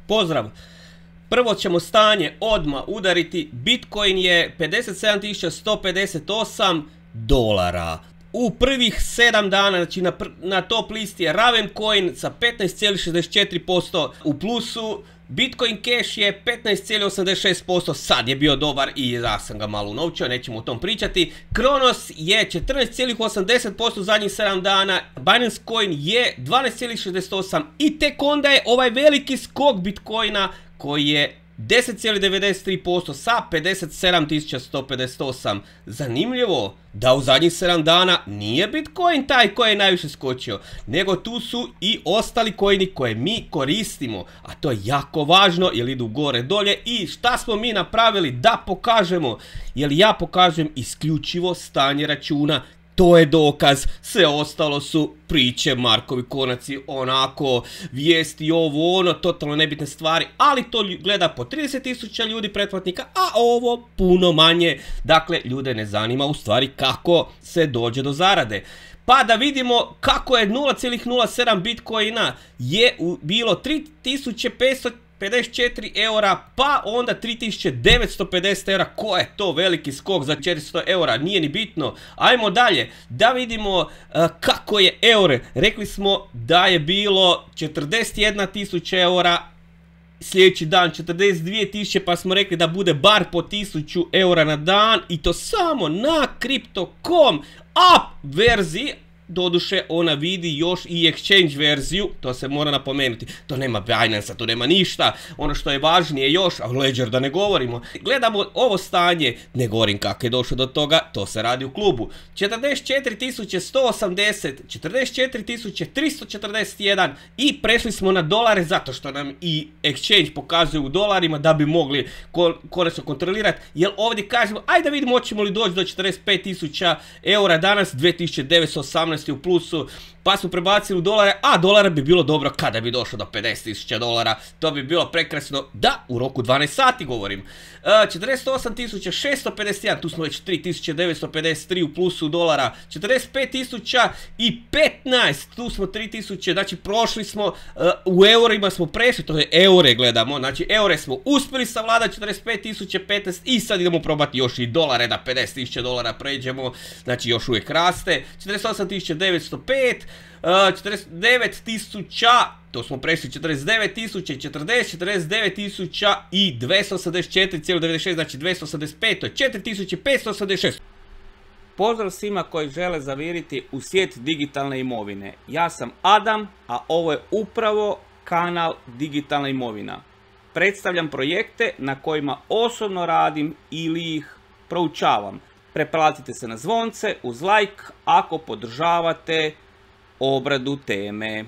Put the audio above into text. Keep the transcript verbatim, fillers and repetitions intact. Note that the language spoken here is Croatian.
Pozdrav! Prvo ćemo stanje odmah udariti. Bitcoin je pedeset sedam tisuća sto pedeset osam dolara. U prvih sedam dana, znači na, na top listi je Ravencoin sa petnaest zarez šezdeset četiri posto u plusu. Bitcoin Cash je petnaest zarez osamdeset šest posto, sad je bio dobar i ja sam ga malo unovčio, nećemo o tom pričati. Kronos je četrnaest zarez osamdeset posto u zadnjih sedam dana, Binance Coin je dvanaest zarez šezdeset osam i tek onda je ovaj veliki skok Bitcoina koji je deset zarez devedeset tri posto sa pedeset sedam tisuća sto pedeset osam. Zanimljivo da u zadnjih sedam dana nije Bitcoin taj koji je najviše skočio, nego tu su i ostali coini koje mi koristimo, a to je jako važno jer idu gore dolje. I šta smo mi napravili da pokažemo? Jer ja pokažem isključivo stanje računa. To je dokaz, sve ostalo su priče, Markovi konaci, onako, vijesti, ovo, ono, totalno nebitne stvari, ali to gleda po trideset tisuća ljudi pretplatnika, a ovo puno manje. Dakle, ljude ne zanima u stvari kako se dođe do zarade. Pa da vidimo kako je nula zarez nula sedam Bitcoina je bilo tri tisuće petsto pedeset četiri eura, pa onda tri tisuće devetsto pedeset eura. Ko je to veliki skok za četiristo eura, nije ni bitno. Ajmo dalje, da vidimo uh, kako je euro. Rekli smo da je bilo četrdeset jedna tisuća eura, sljedeći dan četrdeset dvije tisuće, pa smo rekli da bude bar po tisuću eura na dan, i to samo na Crypto dot com app verziji. Doduše ona vidi još i exchange verziju, to se mora napomenuti. To nema Binance-a, to nema ništa. Ono što je važnije još, a Ledger da ne govorimo. Gledamo ovo stanje, ne govorim kako je došlo do toga, to se radi u klubu. četrdeset četiri tisuće sto osamdeset, četrdeset četiri tisuće tristo četrdeset jedan i prešli smo na dolare zato što nam i exchange pokazuje u dolarima da bi mogli konačno kontrolirati. Jer ovdje kažemo, ajde da vidimo hoćemo li doći do četrdeset pet tisuća eura danas, dvije tisuće devetsto osamnaest u plusu, pa smo prebacili u dolare, a dolara bi bilo dobro kada bi došlo do pedeset tisuća dolara, to bi bilo prekrasno, da, u roku dvanaest sati govorim. Uh, četrdeset osam tisuća šesto pedeset jedan, tu smo već tri tisuće devetsto pedeset tri u plusu dolara, četrdeset pet tisuća petnaest, tu smo tri tisuće, znači prošli smo, uh, u eurima smo prešli, to je eure gledamo, znači eure smo uspjeli savladati, četrdeset pet tisuća petnaest, i sad idemo probati još i dolare, da pedeset tisuća dolara pređemo, znači još uvijek raste. Četrdeset osam tisuća devetsto pet, uh, četrdeset devet tisuća, to smo prešli, četrdeset devet tisuća četrdeset, četrdeset devet tisuća dvjesto osamdeset četiri zarez devedeset šest, znači dvjesto osamdeset pet, to je četiri tisuće petsto osamdeset šest. Pozdrav svima koji žele zaviriti u svijet digitalne imovine. Ja sam Adam, a ovo je upravo kanal Digitalna imovina. Predstavljam projekte na kojima osobno radim ili ih proučavam. Preplatite se na zvonce uz like ako podržavate obradu teme.